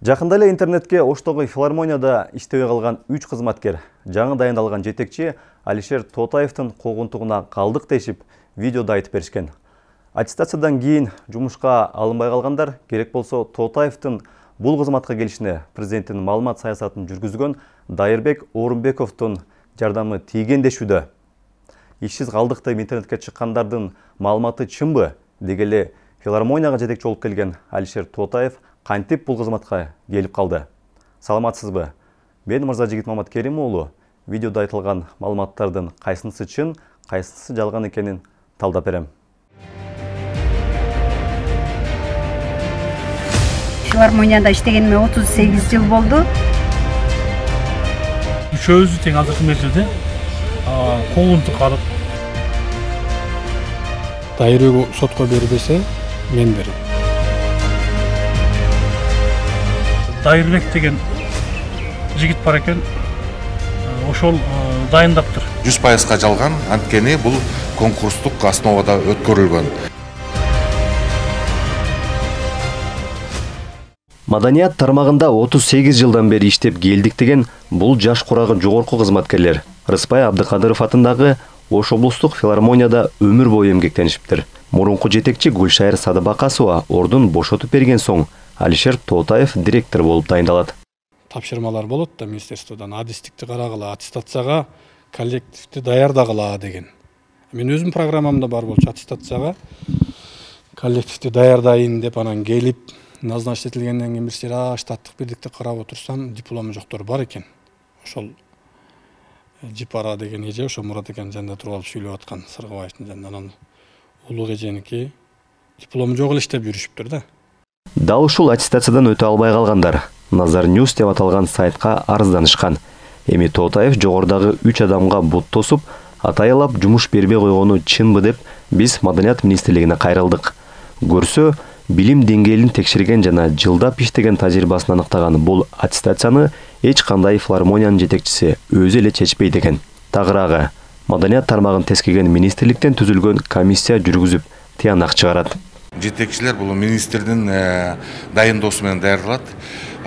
Жакында эле интернетке Оштогу филармонияда иштебей калган 3 кызматкер жаңы дайындалган жетекчи Алишер Тоотаевдин куугунтугуна калдык дешип видеода айтып беришкен. Аттестациядан кийин жумушка алынбай калгандар керек болсо Тоотаевдин бул кызматка келишине президенттин маалымат саясатын жүргүзгөн Дайырбек Орунбековдун жардамы тийген дешүүдө. Ишсиз калдык деп интернетке чыккандардын маалыматы чынбы? Деги эле филармонияга жетекчи болуп келген Алишер Тоотаев кантип бул кызматка келип калды? Саламатсызбы? Мен Мырзажигит Маматкерим уулу. Видеода айтылган маалыматтардын кайсынысы чын, кайсынысы жалган экенин талдап берем. Филармонияда иштегениме 38 жыл болду. Үчөөбүз тең азыркы мезгилде куугунтук алып Дайырбек сотко бербесе, мен берем. Дайырбек деген жигит бар экен, ошол дайындаптыр. 100%га жалган, анткени бул конкурстук основада өткөрүлгөн. Маданият тармагында 38 жылдан бери иштеп келдик деген бул жаш курагы жогорку кызматкерлер Рыспай Абдыкадыров атындагы Ош облустук филармонияда өмүр бою эмгектенишиптир. Мурунку жетекчи Гүлшайыр Садыбакасова ордун бошотуп берген соң Алишер Тоотаев директор болуп дайындалат. Тапшырмалар болот да министрликтен адистикти карагыла, аттестацияга коллективди даярдагыла деген. Мен өзүм программамда бар болчу аттестацияга коллективди даярдайын деп анан келип назначить этилгенден кийин бир сыйра штаттык бирдикти карап отурсам, диплому жоктор бар экен. Ошол Жипара деген эже, ошо Мурат экен жанында туруп алып сүйлөп аткан Сыргыбаевдин жанында, анан улук эженики диплому жок эле иштеп жүрүшүптүр да. Дал ушул аттестациядан өтө албай калгандар Назар Ньюс деп аталган сайтка арызданышкан. Эми Тоотаев жогордагы 3 адамга бут тосуп, атайылап жумуш бербей койгону чынбы деп биз Маданият министрлигине кайрылдык. Көрсө, билим деңгээлин текшерген жана жылдап иштеген тажрыйбасын аныктаган бул аттестацияны эч кандай филармониянын жетекчиси өзү эле чечпейт экен. Тагыраагы, Маданият тармагын тескеген министрликтен түзүлгөн комиссия жүргүзүп, тыянак чыгарат. Жетекчилер бул министрдин дайындоосу менен даярдалат.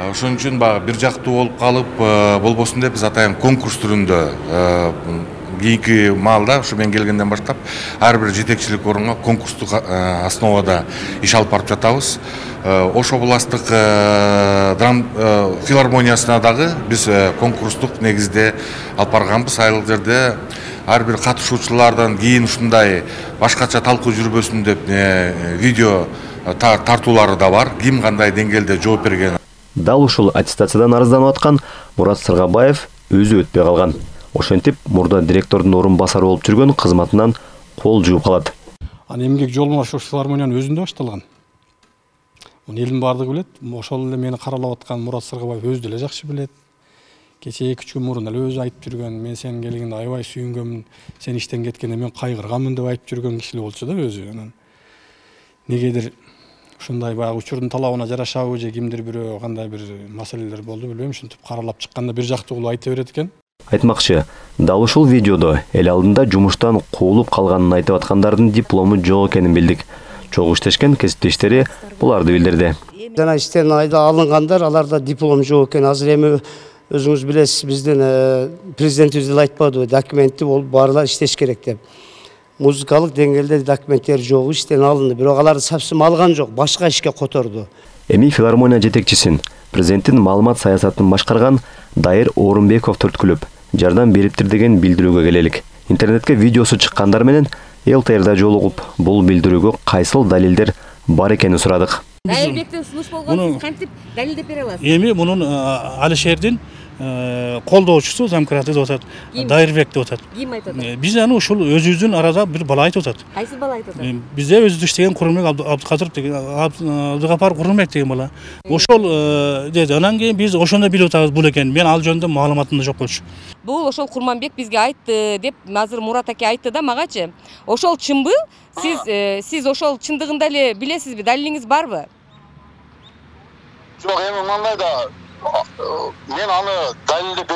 Ошон үчүн бир жактуу болуп калып болбосун деп биз атайын конкурс түрүндө кийинки маалда ушу мен келгенден баштап ар бир жетекчилик орунга конкурстук основада иш алып барып жатабыз. Ош областык филармониясына дагы биз конкурстук негизде алып барганбыз. Айыл жерде ар бир катышуучулардан кийин ушундай башкача талкуу жүрбөсүн деп видео тартуулары да бар. Ким кандай деңгээлде жооп берген. Дал ушул аттестациядан арызданып аткан Мурат Сыргабаев өзү өтпөй калган. Ошентип, мурда директордун орун басары болуп жүргөн кызматынан кол жууп калат. Эмгек жолума ошо филармониянын өзүндө башталган. Муну элдин баардыгы билет. Ошол эле мени каралап аткан Мурат Сыргабаев өзү деле жакшы билет. Кечээ 2-3 күн мурун эле өзү айтып жүргөн. Мен сенин келгениңде аябай сүйүнгөнмүн. Сен иштен кеткенде мен кайгырганмын деп айтып жүргөн киши болчу да өзү. Анан негедир ушундай баягы учурдун талабына жарашабы же кимдир бирөө кандай бир маселелер болду билбейм. Ушинтип каралап чыкканда бир жактуу кылып айта берет экен. Айтмакчы, дал ушул видеодо эл алдында жумуштан куулуп калганын айтып аткандардын диплому жок экенин билдик. Чогуу иштешкен кесиптештери буларды билдирди. Жана иштен алынгандар, аларда диплом жок экен. Азыр эми өзүңүз билесиз, биздин президентибиз деле айтпадыбы, документи болуп баарлар иштеш керек деп. Музыкалык деңгээлде документтер жок, иштен алынды, бирок аларды совсем алган жок, башка ишке которду. Эми филармония жетекчисин президенттин маалымат саясатын башкарган Дайыр Орунбеков түрткүлөп жардам бериптир деген билдирүүгө келелик. Интернетке видеосу чыккандар менен ЛТРда жолугуп, бул билдирүүгө кайсыл далилдер бар экенин сурадык. Дайырбектен сунуш болгон, сиз кантип далилдеп бере аласыз? Эми мунун Алишердин колдоочусу замкраты деп атат. Дайырбек деп атат. Ким айтат? Биз аны ушул өзүбүздүн арада бир бала айтып атат. Кайсы бала айтат? Бизде өзү иштеген Курманбек Абдыкадыров деген Абдыгапар Курманбек деген бала. Ошол деди. Анан кийин биз ошондо билип атабыз бул экен. Мен ал жөнүндө маалыматым жок болчу. Бул ошол Курманбек бизге айтты деп азыр Мурат аке айтты да магачы. Ошол чынбы? Сиз ошол чындыгында эле билесизби? Далилиңиз барбы? Жок, эми мындай да мен аны далилдеп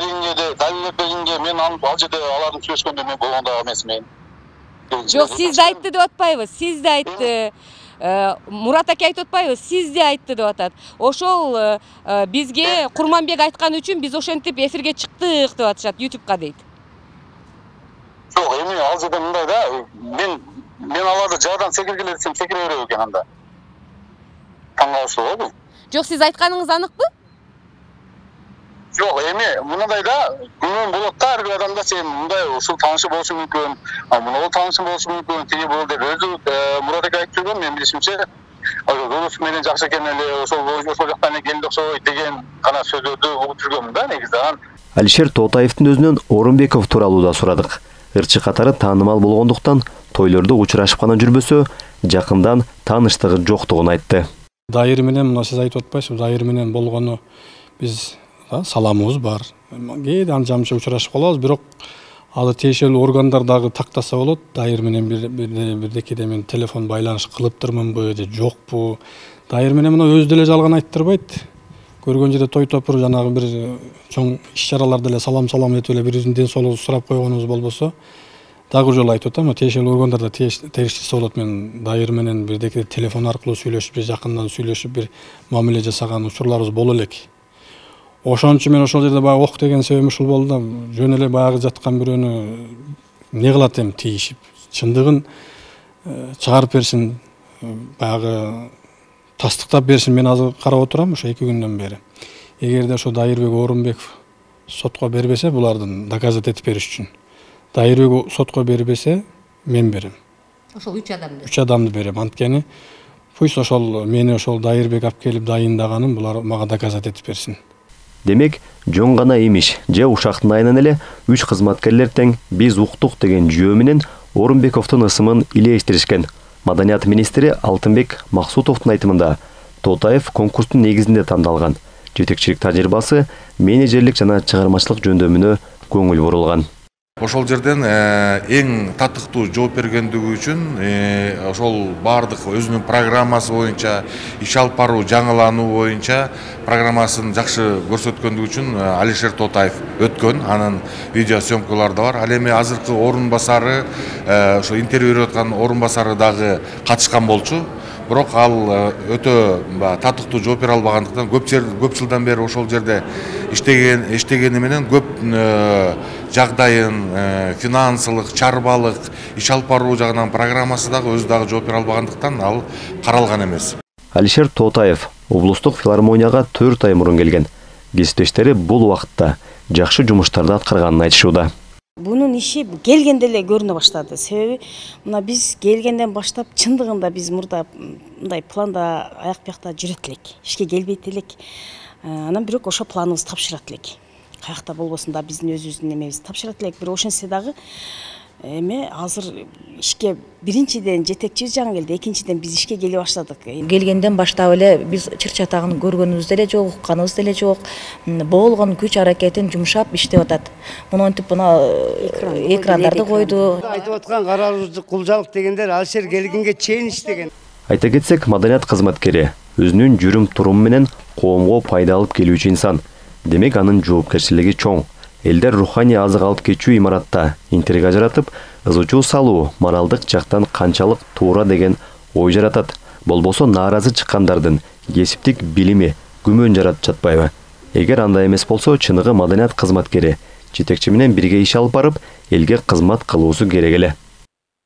бергенге мен аны ал жерде алардын сүйлөшкөндө мен болгондо эмес мен. Жок, сиз да айтты деп атпайбыз. Сиз да айтты. Мурат аке айтып атпайбы, сиз де айтты деп атат. Ошол бизге Курманбек айткан үчүн биз ошентип эфирге чыктык деп атышат YouTube'ка дейт. Жок, эми ал жерде мындай да, мен аларды жаадан секиргиле десем секире берет экен анда. Таң калыштуу болду. Жок, сиз айтканыңыз аныкпы? Жок, эми мындай да, күнөө болот да, ар бир адамда сен мындай ушул таанышы болушу мүмкүн, мына таанышы болушу мүмкүн, тиги бул деп өзү Мурат аке айтып жүргөн, мен билишимче, дос менен жакшы экен эле, ошол жактан эле келди окшойт деген гана сөздөрдү угуп жүргөмүн да негизи. Алишер Тотаевдин өзүнөн Орунбеков тууралуу да сурадык. Ырчы катары таанымал болгондуктан тойлордо учурашып гана жүрбөсө, жакындан тааныштыгы жоктугун айтты. Дайыр менен мына сиз айтып атпайсызбы, Дайыр менен болгону биз саламыбыз бар. Кээде анча-мынча учурашып калабыз, бирок аны тиешелүү органдар дагы тактаса болот. Дайыр менен бирдекеде мен телефон байланыш кылыптырмынбы же жокпу? Дайыр менен мына өзү деле жалган айттырбайт. Көргөн жерде той топур жанагы бир чоң иш-чараларда эле салам этип эле бирибиздин ден соолугубузду сурап койгонубуз болбосо, дагы жолу айтып атам, тиешелүү органдарда териштирсе болот. Мен Дайыр менен бирдекеде телефон аркылуу сүйлөшүп, же жакындан сүйлөшүп бир мамиле жасаган учурларыбыз боло элек. Ошон үчүн мен ошол жерде баягы ок деген себебим ушул болду да. Жөн эле баягы жаткан бирөөнү эмне кылат эми тийишип, чындыгын чыгарып берсин, баягы тастыктап берсин. Мен азыр карап отурам ошо 2 күндөн бери. Эгерде ошо Дайырбек Орунбеков сотко бербесе, булардын доказать этип бериш үчүн, Дайырбек сотко бербесе, мен берем. Ошол 3 адамды. 3 адамды берем. Анткени пусть ошол мени ошол Дайырбек алып келип дайындаганын булар мага доказать этип берсин. Демек, жөн гана имиш же ушактын айынан эле 3 кызматкерлер тең биз уктук деген жөө менен Орунбековдун ысымын илештиришкен. Маданият министри Алтынбек Максутовдун айтымында Тотаев конкурстун негизинде тандалган. Жетекчилик тажрыйбасы, менеджерлик жана чыгармачылык жөндөмүнө көңүл бурулган. Ошол жерден эң татыктуу жооп бергендиги үчүн ошол баардык өзүнүн программасы боюнча, иш алып баруу, жаңылануу боюнча программасын жакшы көрсөткөндүгү үчүн Алишер Тотаев өткөн. Анын видео съемкалары да бар. Ал эми азыркы орун басары, ошо интервью берип аткан орун басары дагы катышкан болчу. Бирок ал өтө татыктуу жооп бере албагандыктан көп жылдан бери ошол жерде иштегени менен көп жагдайын, финансылык, чарбалык, иш алып баруу жагынан программасы дагы өзү дагы жооп бере албагандыктан ал каралган эмес. Алишер Тотаев облустук филармонияга 4 ай мурун келген. Кесиптештери бул убакытта жакшы жумуштарды аткарганын айтышууда. Бунун иши келгенде эле көрүнө баштады. Себеби мына биз келгенден баштап чындыгында биз мурда мындай планда аяк бuyakта жүрөт элек, ишке келбейт элек. Анан бирок ошо планыбызды тапшырат элек. Каякта болбосун да биздин өзүбүздүн эмебизди тапшырат элек. Бирок ошентсе дагы эми азыр ишке биринчиден жетекчибиз жаңы келди, экинчиден биз ишке келе баштадык. Келгенден баштап эле биз чыр-чатагын көргөнүбүз деле жок, укканыбыз деле жок. Болгон күч аракетин жумшап иштеп атат. Монтип мына экрандарды койду. Айтып аткан каралуучу кулжалык дегендер Алишер келгенге чейин иштеген. Айта кетсек, маданият кызматкери өзүнүн жүрүм-туруму менен коомго пайда алып келүүчү инсан. Демек, анын жоопкерчилиги чоң. Элдер руханий азык алып кетчү имаратта интрига жаратып, ызычуу салуу моралдык жактан канчалык туура деген ой жаратат. Болбосо нааразы чыккандардын кесиптик билими күмөн жаратып жатпайбы? Эгер андай эмес болсо, чыныгы маданият кызматкери жетекчи менен бирге иш алып барып, элге кызмат кылуусу керек эле.